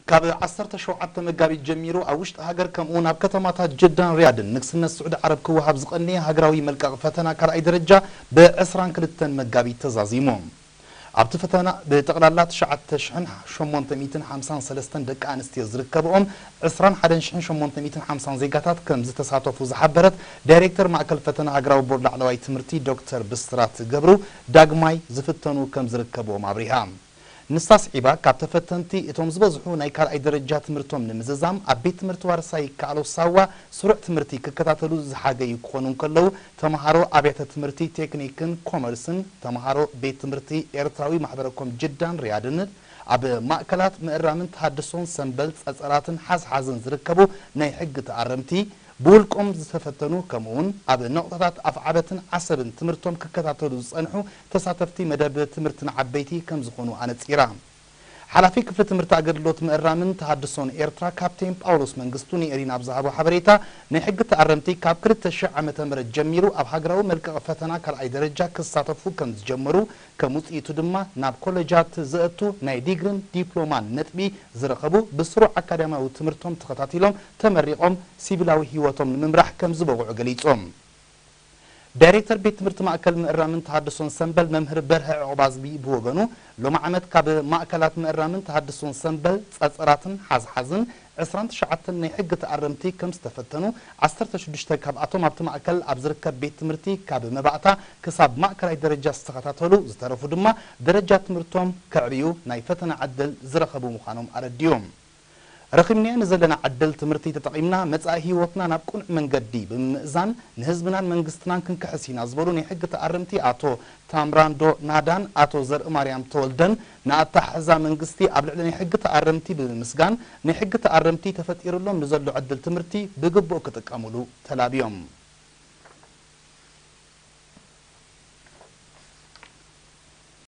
ካብ ዓሰርተ ሸውዓተ መጋቢት ጀሚሩ ኣብ ውሽጢ ሃገር ከምኡ እውን ኣብ ከተማታት ጀዳን ሪያድን ንግስነት ስዑዲ ዓረብ ክወሃብ ዝቐነየ ሃገራዊ መልቀቕ ፈተና ካልኣይ ደረጃ ብ ዕስራን ክልተን መጋቢት ተዛዚሙ። ኣብቲ ፈተና ብጠቕላላ ትሽዓተ ሽሕን ሸሞንተ ሚእትን ሓምሳን ሰለስተን ደቂ ኣንስትዮ ዝርከብኦም ዕስራን ሓደን ሽሕን ሸሞንተ ሚእትን ሓምሳን ዜጋታት ከም ዝተሳተፉ ዝሓበረት ዳይሬክተር ማእከል ፈተና ሃገራዊ ቦርድ ላዕለዋይ ትምህርቲ ዶክተር ብስራት ገብሩ፣ ዳግማይ ዝፍተኑ ከም ዝርከብዎም ኣብሪሃ። ንሳ ስዒባ፣ ካብ ተፈተንቲ እቶም ዝበዝሑ ናይ ካልኣይ ደረጃ ትምህርቶም ንምዝዛም ኣብ ቤት ትምህርቲ ዋርሳይ ይከኣሎ ሳዋ ስሩዕ ትምህርቲ ክከታተሉ ዝሓገዩ ክኾኑ እንከለዉ፣ ተምሃሮ ኣብያተ ትምህርቲ ቴክኒክን ኮመርስን፣ ተምሃሮ ቤት ትምህርቲ ኤርትራዊ ማሕበረ ኮም ጅዳን ሪያድን፣ ኣብ ማእከላት ምእራምን ተሃድሶን ሰምበል ጸጸራትን ሓዝሓዝን ዝርከቡ ናይ ሕጊ ተኣረምቲ፣ ብውልቆም ዝተፈተኑ፣ ከምኡውን ኣብ ነቑጣታት ኣፍዓበትን ዓሰብን ትምህርቶም ክከታተሉ ዝጸንሑ ተሳተፍቲ መደብ ትምህርቲ ንዓበይቲ ከም ዝኾኑ ኣነጺራ። ሓላፊ ክፍሊ ትምህርቲ ኣገልግሎት ምእራምን ተሃድሶን ኤርትራ ካፕቴን ጳውሎስ መንግስቱ ንኤሪና ኣብ ዝሃቦ ሓበሬታ፣ ናይ ሕጊ ተኣረምቲ ካብ ክልተ ሽሕ ዓመተ ምህረት ጀሚሩ ኣብ ሃገራዊ መልቀቒ ፈተና ካልኣይ ደረጃ ክሳተፉ ከም ዝጀመሩ፣ ከም ውጽኢቱ ድማ ናብ ኮለጃት ዘእቱ ናይ ዲግሪን ዲፕሎማን ነጥቢ ዝረኸቡ፣ ብስሩዕ ኣካዳሚያዊ ትምህርቶም ተኸታቲሎም ተመሪቖም ሲቪላዊ ህይወቶም ንምምራሕ ከም ዝበቕዑ ገሊጾም። ዳይሬክተር ቤት ትምህርቲ ማእከል ምእራምን ተሃድሶን ሰምበል መምህር በርሀ ዑቕባዝጊ ብወገኑ፣ ሎሚ ዓመት ካብ ማእከላት ምእራምን ተሃድሶን ሰምበል ጸጸራትን ሓዝሓዝን ዕስራን ትሽዓተን ናይ ሕጊ ተኣረምቲ ከም ዝተፈተኑ፣ ዓሰርተ ሽዱሽተ ካብኣቶም ኣብቲ ማእከል ኣብ ዝርከብ ቤት ትምህርቲ ካብ መባእታ ክሳብ ማእከላይ ደረጃ ዝተኸታተሉ፣ ዝተረፉ ድማ ደረጃ ትምህርቶም ከዕብዩ ናይ ፈተና ዕድል ዝረኸቡ ምዃኖም ኣረዲኦም። ረኺብናዮ ንዘለና ዕድል ትምህርቲ ተጠቒምና መጻኢ ህይወትና ናብ ቅኑዕ መንገዲ ብምምእዛን ንህዝብናን መንግስትናን ክንክሕስ ኢና ዝበሉ ናይ ሕጊ ተኣረምቲ ኣቶ ታምራንዶ ናዳን ኣቶ ዘርእማርያም ተወልደን፣ ንኣተሓሕዛ መንግስቲ ኣብ ልዕሊ ናይ ሕጊ ተኣረምቲ ብምምስጋን፣ ናይ ሕጊ ተኣረምቲ ተፈጢሩሎም ንዘሎ ዕድል ትምህርቲ ብግቡእ ክጥቀሙሉ ተላብዮም።